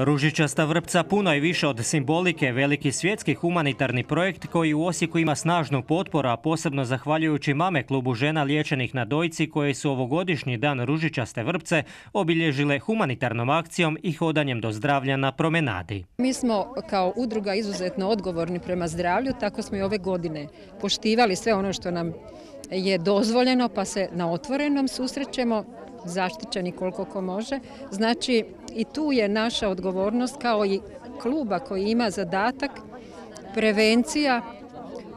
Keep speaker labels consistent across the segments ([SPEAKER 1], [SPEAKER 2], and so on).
[SPEAKER 1] Ružičasta vrpca puno je više od simbolike, veliki svjetski humanitarni projekt koji u Osijeku ima snažnu potporu, a posebno zahvaljujući Mame klubu žena liječenih na dojci koje su ovogodišnji dan ružičaste vrpce obilježile humanitarnom akcijom i hodanjem do zdravlja na promenadi.
[SPEAKER 2] Mi smo kao udruga izuzetno odgovorni prema zdravlju, tako smo i ove godine poštivali sve ono što nam je dozvoljeno, pa se na otvorenom susrećemo, zaštićeni koliko ko može. Znači i tu je naša odgovornost kao i kluba koji ima zadatak prevencija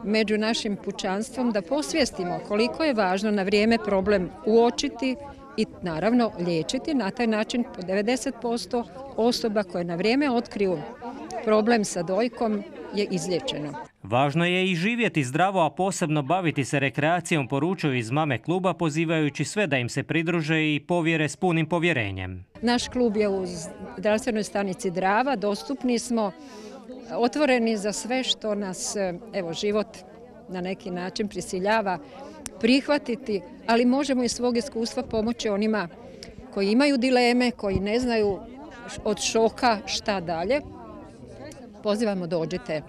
[SPEAKER 2] među našim pučanstvom, da posvijestimo koliko je važno na vrijeme problem uočiti i naravno liječiti. Na taj način 90% osoba koje na vrijeme otkriju problem sa dojkom je izliječeno.
[SPEAKER 1] Važno je i živjeti zdravo, a posebno baviti se rekreacijom, poručuju iz Mame kluba, pozivajući sve da im se pridruže i povjere s punim povjerenjem.
[SPEAKER 2] Naš klub je u zdravstvenoj stanici Drava, dostupni smo, otvoreni za sve što nas život na neki način prisiljava prihvatiti, ali možemo iz svog iskustva pomoći onima koji imaju dileme, koji ne znaju od šoka šta dalje. Pozivamo, dođite.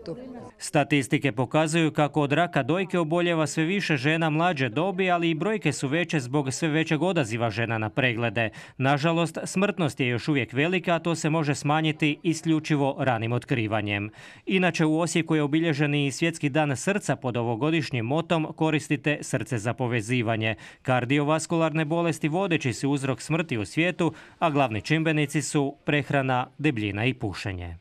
[SPEAKER 2] Tu.
[SPEAKER 1] Statistike pokazuju kako od raka dojke oboljeva sve više žena mlađe dobi, ali i brojke su veće zbog sve većeg odaziva žena na preglede. Nažalost, smrtnost je još uvijek velika, a to se može smanjiti isključivo ranim otkrivanjem. Inače, u Osijeku je obilježen i Svjetski dan srca pod ovogodišnjim motom Koristite srce za povezivanje. Kardiovaskularne bolesti vodeći su uzrok smrti u svijetu, a glavni čimbenici su prehrana, debljina i pušenje.